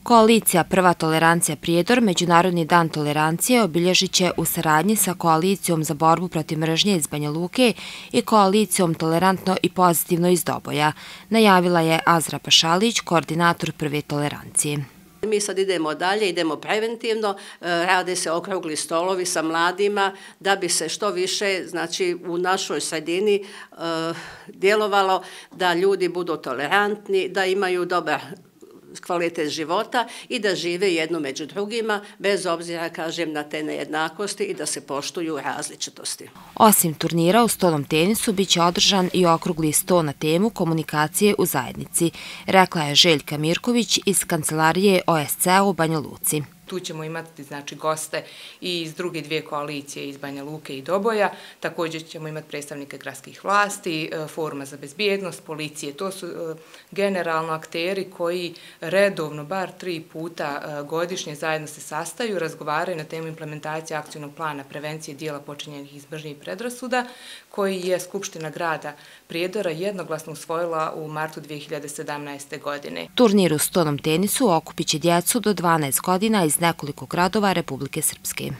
Koalicija Prva tolerancija Prijedor Međunarodni dan tolerancije obilježit će u saradnji sa Koalicijom za borbu protiv mržnje iz Banja Luke i Koalicijom Tolerantno i pozitivno iz Doboja, najavila je Azra Pašalić, koordinator Prve tolerancije. Mi sad idemo dalje, idemo preventivno, rade se okrugli stolovi sa mladima da bi se što više, znači, u našoj sredini djelovalo da ljudi budu tolerantni, da imaju dobar kvalitet života i da žive jedno među drugima, bez obzira, kažem, na te nejednakosti i da se poštuju različitosti. Osim turnira u stolnom tenisu, bit će održan i okrugli sto na temu komunikacije u zajednici, rekla je Željka Mirković iz kancelarije OSCE u Banja Luci. Tu ćemo imati goste i iz druge dvije koalicije iz Banja Luke i Doboja. Također ćemo imati predstavnike gradskih vlasti, Foruma za bezbjednost, policije. To su generalno akteri koji redovno, bar 3 puta godišnje zajedno se sastaju, razgovaraju na temu implementacije akcijnog plana prevencije dijela počinjenih iz mržnje i predrasuda, koji je Skupština grada Prijedora jednoglasno usvojila u martu 2017. godine. Turnir u stolnom tenisu okupit će djecu do 12 godina iz nekoliko gradova Republike Srpske.